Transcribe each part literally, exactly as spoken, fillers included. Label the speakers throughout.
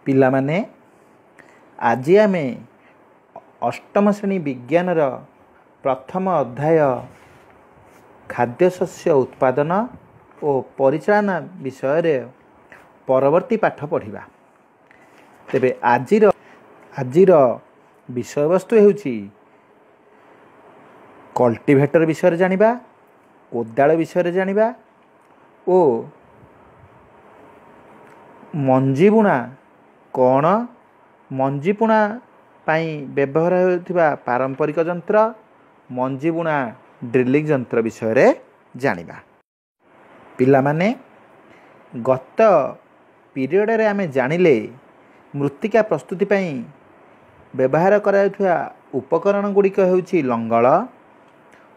Speaker 1: ପିଲାମାନେ, ଆଜି ଆମେ ଅଷ୍ଟମ ଶ୍ରେଣୀ ବିଜ୍ଞାନର ପ୍ରଥମ ଅଧ୍ୟାୟ ଖାଦ୍ୟଶସ୍ୟ ଉତ୍ପାଦନ ଓ ପରିଚାଳନା ବିଷୟରେ ପରବର୍ତ୍ତୀ ପାଠ ପଢ଼ିବା। ତେବେ ଆଜିର ଆଜିର ବିଷୟବସ୍ତୁ ହେଉଛି କଲ୍ଟିଭେଟର ବିଷୟରେ ଜାଣିବା, କୋଦାଳ ବିଷୟରେ ଜାଣିବା ଓ ମଞ୍ଜି ବୁଣା କ'ଣ, ମଞ୍ଜି ବୁଣା ପାଇଁ ବ୍ୟବହାର ହେଉଥିବା ପାରମ୍ପରିକ ଯନ୍ତ୍ର, ମଞ୍ଜି ବୁଣା ଡ୍ରିଲିଂ ଯନ୍ତ୍ର ବିଷୟରେ ଜାଣିବା। ପିଲାମାନେ, ଗତ ପିରିୟଡ଼ରେ ଆମେ ଜାଣିଲେ ମୃତ୍ତିକା ପ୍ରସ୍ତୁତି ପାଇଁ ବ୍ୟବହାର କରାଯାଉଥିବା ଉପକରଣ ଗୁଡ଼ିକ ହେଉଛି ଲଙ୍ଗଳ,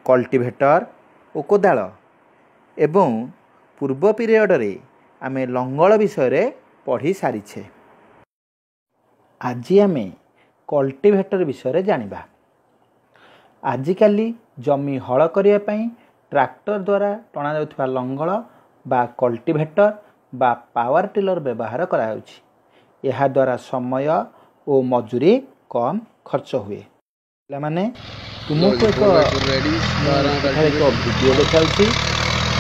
Speaker 1: କଲ୍ଟିଭେଟର ଓ କୋଦାଳ ଏବଂ ପୂର୍ବ ପିରିୟଡ଼ରେ ଆମେ ଲଙ୍ଗଳ ବିଷୟରେ ପଢ଼ି ସାରିଛେ। ଆଜି ଆମେ କଲ୍ଟିଭେଟର ବିଷୟରେ ଜାଣିବା। ଆଜିକାଲି ଜମି ହଳ କରିବା ପାଇଁ ଟ୍ରାକ୍ଟର ଦ୍ୱାରା ଟଣାଯାଉଥିବା ଲଙ୍ଗଳ ବା କଲ୍ଟିଭେଟର ବା ପାୱାର ଟିଲର ବ୍ୟବହାର କରାଯାଉଛି। ଏହାଦ୍ୱାରା ସମୟ ଓ ମଜୁରୀ କମ୍ ଖର୍ଚ୍ଚ ହୁଏ। ପିଲାମାନେ, ତୁମକୁ ଏକ ଏଠାରେ ଏକ ଭିଡ଼ିଓ ଦେଖାଉଛି,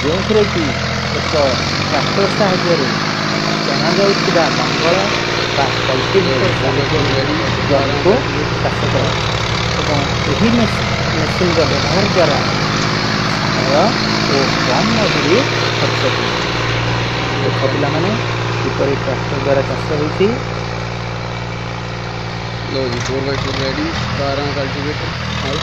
Speaker 1: ଯେଉଁଥିରେ କି ଏକ ଟ୍ରାକ୍ଟର ସାହାଯ୍ୟରେ ଟଣାଯାଉଥିବା ଲଙ୍ଗଳ ବା କଲ୍ଟିଭେଟର ସାହାଯ୍ୟରେ ଜମିକୁ ଚାଷ କରାଯାଉଛି ଏବଂ ଏହି ମେସିନ୍ର ବ୍ୟବହାର ଦ୍ୱାରା ସମୟ ଓ କମ୍ ମଜୁରୀ ଖର୍ଚ୍ଚ ହୁଏ। ଦେଖ ପିଲାମାନେ, କିପରି ଟ୍ରାକ୍ଟର ଦ୍ୱାରା ଚାଷ ହେଉଛି।
Speaker 2: ਲੋ ਜੀ, ਫੋਰ ਬਾਈ ਫੋਰ ਰੈਡੀ, ਬਾਰਾਂ ਕਲਟੀਵੇਟਰ ਹਲ।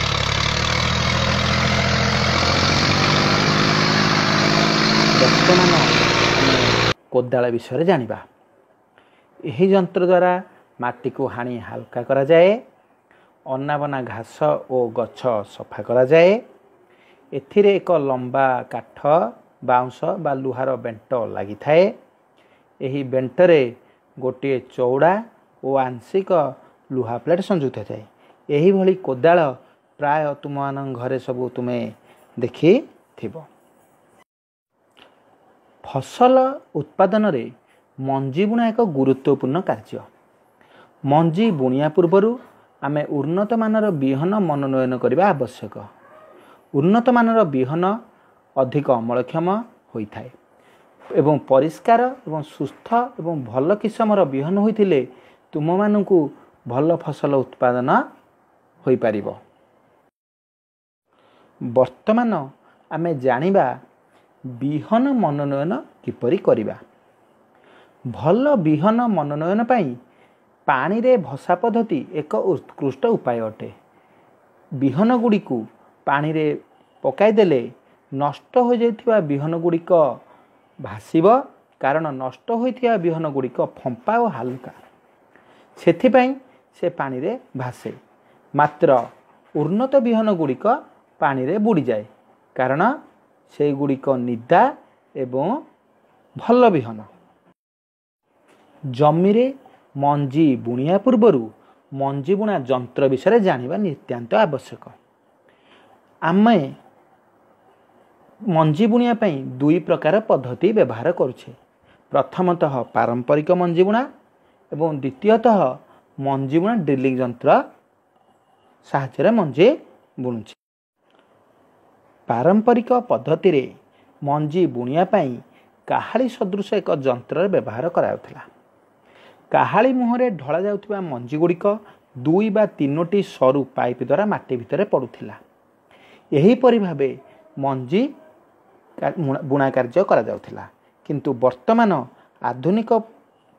Speaker 1: ବର୍ତ୍ତମାନ ଆମେ କୋଦାଳ ବିଷୟରେ ଜାଣିବା। ଏହି ଯନ୍ତ୍ର ଦ୍ୱାରା ମାଟିକୁ ହାଣି ହାଲୁକା କରାଯାଏ, ଅନାବନା ଘାସ ଓ ଗଛ ସଫା କରାଯାଏ। ଏଥିରେ ଏକ ଲମ୍ବା କାଠ, ବାଉଁଶ ବା ଲୁହାର ବେଣ୍ଟ ଲାଗିଥାଏ। ଏହି ବେଣ୍ଟରେ ଗୋଟିଏ ଚଉଡ଼ା ଓ ଆଂଶିକ ଲୁହା ପ୍ଲେଟ୍ ସଂଯୁକ୍ତ ଥାଏ। ଏହିଭଳି କୋଦାଳ ପ୍ରାୟ ତୁମମାନଙ୍କ ଘରେ ସବୁ ତୁମେ ଦେଖିଥିବ। ଫସଲ ଉତ୍ପାଦନରେ ମଞ୍ଜି ବୁଣା ଏକ ଗୁରୁତ୍ୱପୂର୍ଣ୍ଣ କାର୍ଯ୍ୟ। ମଞ୍ଜି ବୁଣିବା ପୂର୍ବରୁ ଆମେ ଉନ୍ନତମାନର ବିହନ ମନୋନୟନ କରିବା ଆବଶ୍ୟକ। ଉନ୍ନତମାନର ବିହନ ଅଧିକ ଅମଳକ୍ଷମ ହୋଇଥାଏ ଏବଂ ପରିଷ୍କାର ଏବଂ ସୁସ୍ଥ ଏବଂ ଭଲ କିସମର ବିହନ ହୋଇଥିଲେ ତୁମମାନଙ୍କୁ ଭଲ ଫସଲ ଉତ୍ପାଦନ ହୋଇପାରିବ। ବର୍ତ୍ତମାନ ଆମେ ଜାଣିବା ବିହନ ମନୋନୟନ କିପରି କରିବା। ଭଲ ବିହନ ମନୋନୟନ ପାଇଁ ପାଣିରେ ଭସା ପଦ୍ଧତି ଏକ ଉତ୍କୃଷ୍ଟ ଉପାୟ ଅଟେ। ବିହନ ଗୁଡ଼ିକୁ ପାଣିରେ ପକାଇଦେଲେ ନଷ୍ଟ ହୋଇଯାଇଥିବା ବିହନ ଗୁଡ଼ିକ ଭାସିବ, କାରଣ ନଷ୍ଟ ହୋଇଥିବା ବିହନ ଗୁଡ଼ିକ ଫମ୍ପା ଓ ହାଲୁକା, ସେଥିପାଇଁ ସେ ପାଣିରେ ଭାସେ। ମାତ୍ର ଉନ୍ନତ ବିହନ ଗୁଡ଼ିକ ପାଣିରେ ବୁଡ଼ିଯାଏ, କାରଣ ସେଇଗୁଡ଼ିକ ନିଦା ଏବଂ ଭଲ ବିହନ। ଜମିରେ ମଞ୍ଜି ବୁଣିବା ପୂର୍ବରୁ ମଞ୍ଜି ବୁଣା ଯନ୍ତ୍ର ବିଷୟରେ ଜାଣିବା ନିତ୍ୟାନ୍ତ ଆବଶ୍ୟକ। ଆମେ ମଞ୍ଜି ବୁଣିବା ପାଇଁ ଦୁଇ ପ୍ରକାର ପଦ୍ଧତି ବ୍ୟବହାର କରୁଛେ। ପ୍ରଥମତଃ ପାରମ୍ପରିକ ମଞ୍ଜି ବୁଣା ଏବଂ ଦ୍ୱିତୀୟତଃ ମଞ୍ଜି ବୁଣା ଡ୍ରିଲିଂ ଯନ୍ତ୍ର ସାହାଯ୍ୟରେ ମଞ୍ଜି ବୁଣୁଛେ। ପାରମ୍ପରିକ ପଦ୍ଧତିରେ ମଞ୍ଜି ବୁଣିବା ପାଇଁ କାହାଳି ସଦୃଶ ଏକ ଯନ୍ତ୍ରର ବ୍ୟବହାର କରାଯାଉଥିଲା। କାହାଳି ମୁହଁରେ ଢଳା ଯାଉଥିବା ମଞ୍ଜି ଗୁଡ଼ିକ ଦୁଇ ବା ତିନୋଟି ସରୁ ପାଇପ୍ ଦ୍ୱାରା ମାଟି ଭିତରେ ପଡ଼ୁଥିଲା। ଏହିପରି ଭାବେ ମଞ୍ଜି ବୁଣା କାର୍ଯ୍ୟ କରାଯାଉଥିଲା। କିନ୍ତୁ ବର୍ତ୍ତମାନ ଆଧୁନିକ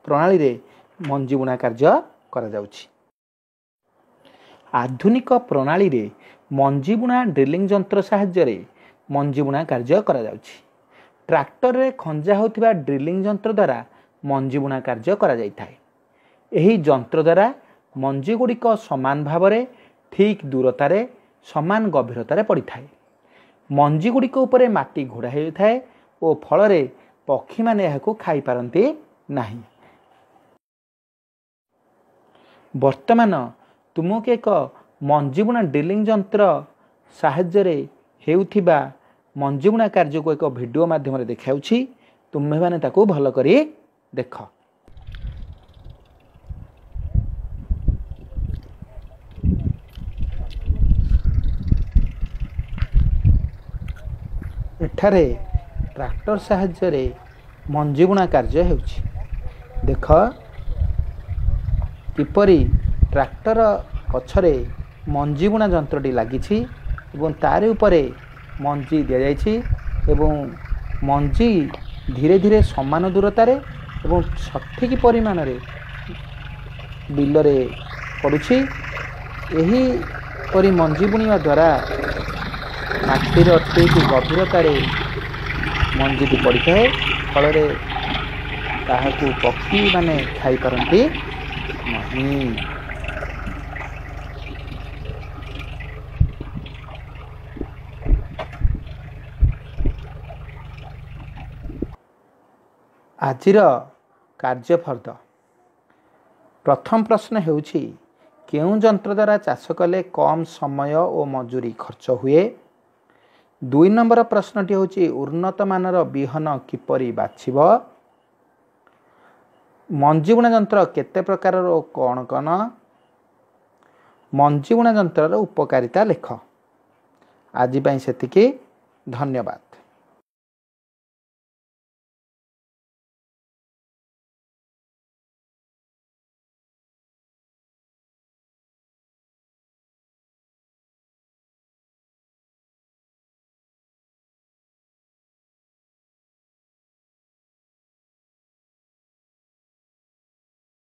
Speaker 1: ପ୍ରଣାଳୀରେ ମଞ୍ଜି ବୁଣା କାର୍ଯ୍ୟ କରାଯାଉଛି। ଆଧୁନିକ ପ୍ରଣାଳୀରେ ମଞ୍ଜି ବୁଣା ଡ୍ରିଲିଂ ଯନ୍ତ୍ର ସାହାଯ୍ୟରେ ମଞ୍ଜି ବୁଣା କାର୍ଯ୍ୟ କରାଯାଉଛି। ଟ୍ରାକ୍ଟରରେ ଖଞ୍ଜା ହେଉଥିବା ଡ୍ରିଲିଂ ଯନ୍ତ୍ର ଦ୍ୱାରା ମଞ୍ଜି ବୁଣା କାର୍ଯ୍ୟ କରାଯାଇଥାଏ। ଏହି ଯନ୍ତ୍ର ଦ୍ୱାରା ମଞ୍ଜି ଗୁଡ଼ିକ ସମାନ ଭାବରେ ଠିକ୍ ଦୂରତାରେ ସମାନ ଗଭୀରତାରେ ପଡ଼ିଥାଏ। ମଞ୍ଜି ଗୁଡ଼ିକ ଉପରେ ମାଟି ଘୋଡ଼ା ହୋଇଥାଏ ଓ ଫଳରେ ପକ୍ଷୀମାନେ ଏହାକୁ ଖାଇପାରନ୍ତି ନାହିଁ। ବର୍ତ୍ତମାନ ତୁମକୁ ଏକ ମଞ୍ଜି ବୁଣା ଡ୍ରିଲିଂ ଯନ୍ତ୍ର ସାହାଯ୍ୟରେ ହେଉଥିବା ମଞ୍ଜି ବୁଣା କାର୍ଯ୍ୟକୁ ଏକ ଭିଡ଼ିଓ ମାଧ୍ୟମରେ ଦେଖାଉଛି। ତୁମେମାନେ ତାକୁ ଭଲ କରି ଦେଖ। ଏଠାରେ ଟ୍ରାକ୍ଟର ସାହାଯ୍ୟରେ ମଞ୍ଜିବୁଣା କାର୍ଯ୍ୟ ହେଉଛି। ଦେଖ କିପରି ଟ୍ରାକ୍ଟର ପଛରେ ମଞ୍ଜିବୁଣା ଯନ୍ତ୍ରଟି ଲାଗିଛି ଏବଂ ତାରି ଉପରେ ମଞ୍ଜି ଦିଆଯାଇଛି ଏବଂ ମଞ୍ଜି ଧୀରେ ଧୀରେ ସମାନ ଦୂରତାରେ ଏବଂ ସଠିକ୍ ପରିମାଣରେ ବିଲରେ ପଡ଼ୁଛି। ଏହିପରି ମଞ୍ଜି ବୁଣିବା ଦ୍ୱାରା ମାଟିର ଠିକ୍ ଗଭୀରତାରେ ମଞ୍ଜିଟି ପଡ଼ିଥାଏ, ଫଳରେ ତାହାକୁ ପକ୍ଷୀମାନେ ଖାଇପାରନ୍ତି ନାହିଁ। ଆଜିର କାର୍ଯ୍ୟଫର୍ଦ୍ଦ ପ୍ରଥମ ପ୍ରଶ୍ନ ହେଉଛି, କେଉଁ ଯନ୍ତ୍ର ଦ୍ୱାରା ଚାଷ କଲେ କମ୍ ସମୟ ଓ ମଜୁରୀ ଖର୍ଚ୍ଚ ହୁଏ? ଦୁଇ ନମ୍ବର ପ୍ରଶ୍ନଟି ହେଉଛି, ଉନ୍ନତମାନର ବିହନ କିପରି ବାଛିବ? ମଞ୍ଜିବୁଣା ଯନ୍ତ୍ର କେତେ ପ୍ରକାରର ଓ କ'ଣ କ'ଣ? ମଞ୍ଜିବୁଣା ଯନ୍ତ୍ରର ଉପକାରିତା ଲେଖ। ଆଜି ପାଇଁ ସେତିକି, ଧନ୍ୟବାଦ।